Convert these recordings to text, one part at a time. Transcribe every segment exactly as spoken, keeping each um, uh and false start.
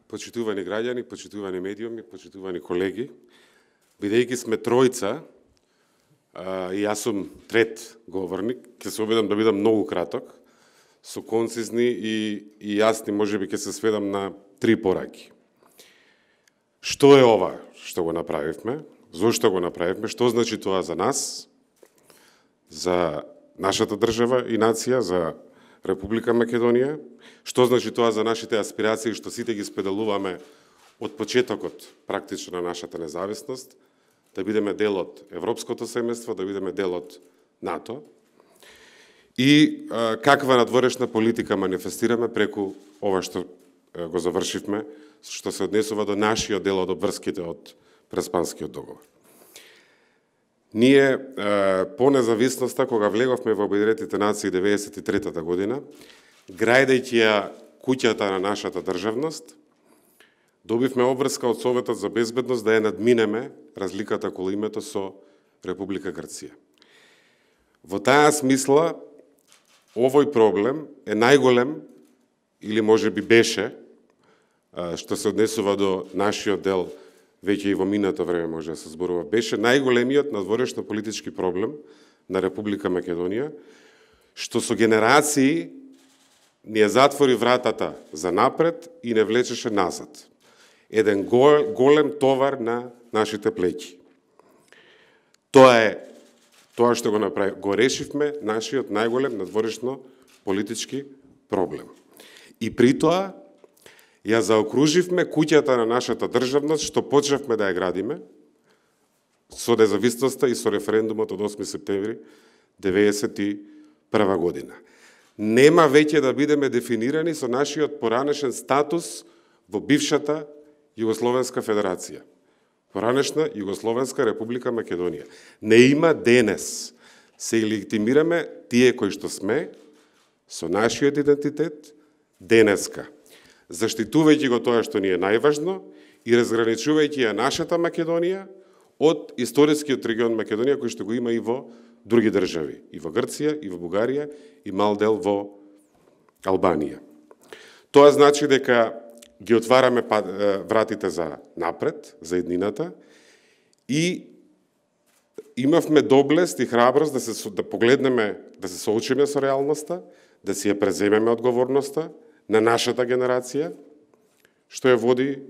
Почитувани граѓани, почитувани медиуми, почитувани колеги, бидејќи сме тројца, а, и јас сум трет говорник, ќе се обидам да бидам многу краток, со концизни и, и јасни, можеби ќе се сведам на три пораки. Што е ова што го направивме? Зошто го направивме? Што значи тоа за нас, за нашата држава и нација, за Република Македонија? Што значи тоа за нашите аспирации, што сите ги споделуваме од почетокот практично на нашата независност, да бидеме дел од европското семејство, да бидеме дел од НАТО? И а, каква надворешна политика манифестираме преку ова што а, го завршивме, што се однесува до нашиот дел од обврските од Преспанскиот договор. Ние, по независноста, кога влеговме во Обединетите нации деветдесет и третата година, грајдејќи ја куќата на нашата државност, добивме обврска од Советот за безбедност да ја надминеме разликата околу името со Република Грција. Во таа смисла, овој проблем е најголем, или може би беше, што се однесува до нашиот дел, веќе и во минато време може да се зборува, беше најголемиот надворешно политички проблем на Република Македонија, што со генерации ни ја затвори вратата за напред и не влечеше назад. Еден голем товар на нашите плеќи. Тоа е тоа што го направи, го решивме нашиот најголем надворешно политички проблем. И при тоа ја заокруживме куќата на нашата државност, што почнавме да ја градиме со независноста и со референдумот од осми септември деветдесет и прва година. Нема веќе да бидеме дефинирани со нашиот поранешен статус во бившата Југословенска федерација. Поранешна Југословенска Република Македонија. Не има денес. Се легитимираме тие кои што сме со нашиот идентитет денеска, заштитувајќи го тоа што ни е најважно и разграничувајќи ја нашата Македонија од историскиот регион Македонија, кој што го има и во други држави, и во Грција, и во Бугарија, и мал дел во Албанија. Тоа значи дека ги отвараме вратите за напред, за еднината, и имавме доблест и храброст да се да погледнеме, да се соочиме со реалноста, да си ја преземеме одговорноста на нашата генерација, што ја води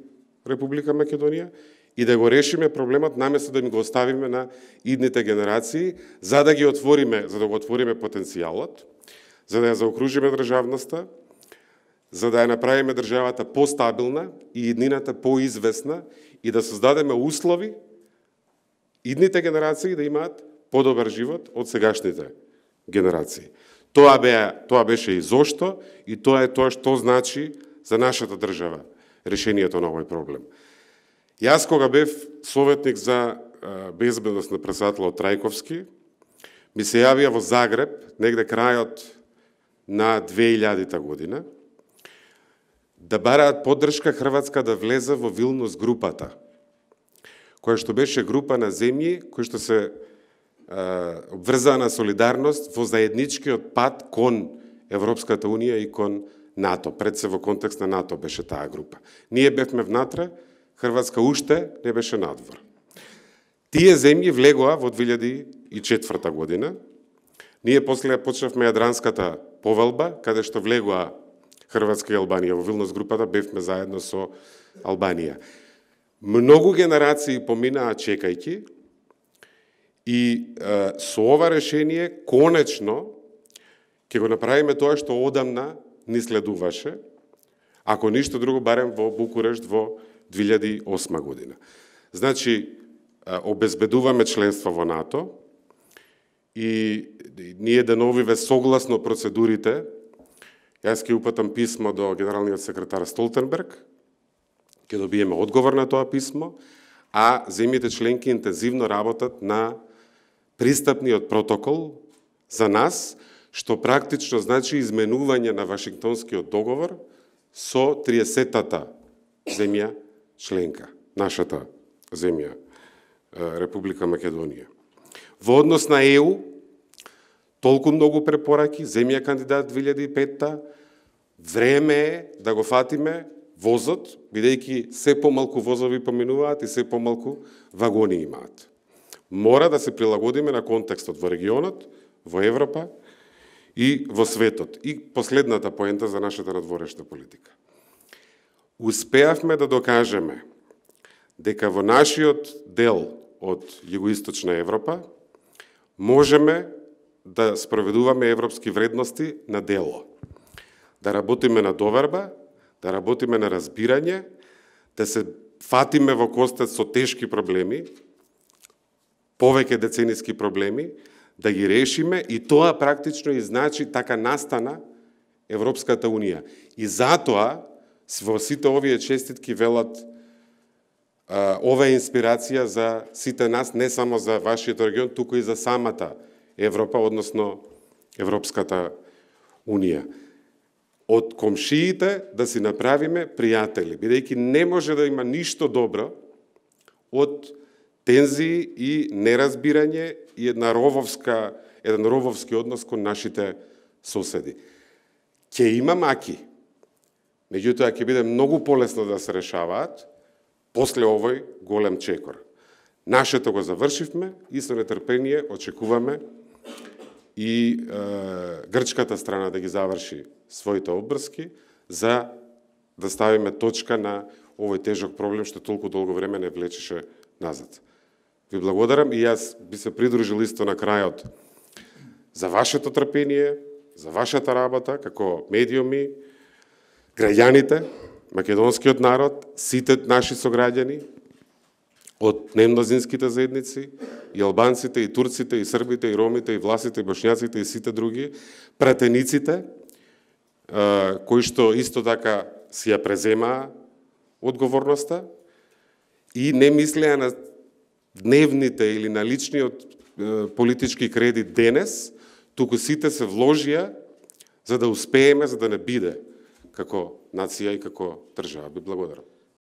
Република Македонија, и да го решиме проблемот наместо да ми го оставиме на идните генерации, за да ги отвориме, за да го отвориме потенцијалот, за да ја заокружиме државноста, за да ја направиме државата постабилна и иднината поизвестна и да создадеме услови идните генерации да имаат подобар живот од сегашните генерации. Тоа бе, тоа беше и зошто, и тоа е тоа што значи за нашата држава решението на овој проблем. Јас кога бев советник за безбедност на председателот Трајковски, ми се јавија во Загреб, негде крајот на две илјадита година, да бараат поддршка Хрватска да влезе во Вилнус групата, која што беше група на земји кои што се обврзаа на солидарност во заедничкиот пат кон Европската Унија и кон НАТО. Пред се во контекст на НАТО беше таа група. Ние бевме внатре, Хрватска уште не беше надвор. Тие земји влегоа во две илјади и четврта година. Ние после почнавме Јадранската повелба, каде што влегоа Хрватска и Албанија во Вилнус групата, бевме заедно со Албанија. Многу генерации поминаа чекајќи и е, со ова решение конечно ќе го направиме тоа што одамна ни следуваше, ако ништо друго барем во Букурешт во две илјади и осма година. Значи, обезбедуваме членство во НАТО и ние деновиве согласно процедурите, јас ќе упатам писмо до генералниот секретар Столтенберг, ќе добиеме одговор на тоа писмо, а земјите членки интензивно работат на пристапниот протокол за нас, што практично значи изменување на Вашингтонскиот договор со триесеттата земја членка, нашата земја, Република Македонија. Во однос на Е У, толку многу препораки, земја кандидат две илјади и петта, време е да го фатиме возот, бидејќи се помалку возови поминуваат и се помалку вагони имаат. Мора да се прилагодиме на контекстот во регионот, во Европа и во светот. И последната поента за нашата надворешна политика. Успеавме да докажеме дека во нашиот дел од југоисточна Европа можеме да спроведуваме европски вредности на дело. Да работиме на доверба, да работиме на разбирање, да се фатиме во костец со тешки проблеми, повеќе децениски проблеми, да ги решиме и тоа практично и значи така настана Европската Унија. И затоа во сите овие честитки велат а, ова е инспирација за сите нас, не само за вашиот регион, туку и за самата Европа, односно Европската Унија. Од комшиите да си направиме пријатели, бидејќи не може да има ништо добро од тензии и неразбирање и една рововска, еден рововски однос кон нашите соседи. Ќе има маки, меѓутоа ќе биде многу полесно да се решаваат после овој голем чекор. Нашето го завршивме и со нетрпение очекуваме и е, грчката страна да ги заврши своите обврски за да ставиме точка на овој тежок проблем што толку долго време не влечеше назад. Ви благодарам и јас би се придружил исто на крајот за вашето трпение, за вашата работа како медиуми, граѓаните, македонскиот народ, сите наши сограѓани од немнозинските заедници, и албанците, и турците, и србите, и ромите, и власите, и бошњаците, и сите други, пратениците, кои што исто така си ја преземаа одговорноста и не мислеа на дневните или на личниот политички кредит денес, туку сите се вложија за да успееме, за да не биде како нација и како држава. Би благодарам.